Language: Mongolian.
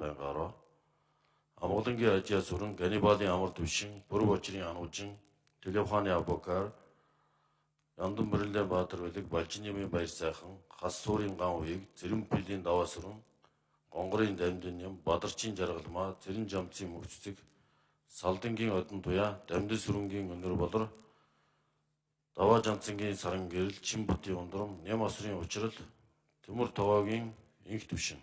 байнгаараа Амгалангийн ажиа сүрэн Ганнибалын амар түвшин, Бүрэг Очрын ануужин, Телевханы Абокар, Яндан Бэрлээ Баатар Велик, Балжинымын баяр сайхан, Хас суурын ган уийг, Зэрэн пилийн даваа сүрэн, Гонгорын дамдын юм, Бадарчин жаргалмаа, Зэрэн жамцын мөгццэг, Салдангийн одон туяа, Дамдын сүрэнгийн өнөр болор, Даваа жанцангийн саран гэрэл, Чин бутын ундрам, Нэм асрын учрал, Тэмүүр Тогоогийн инх түвшин.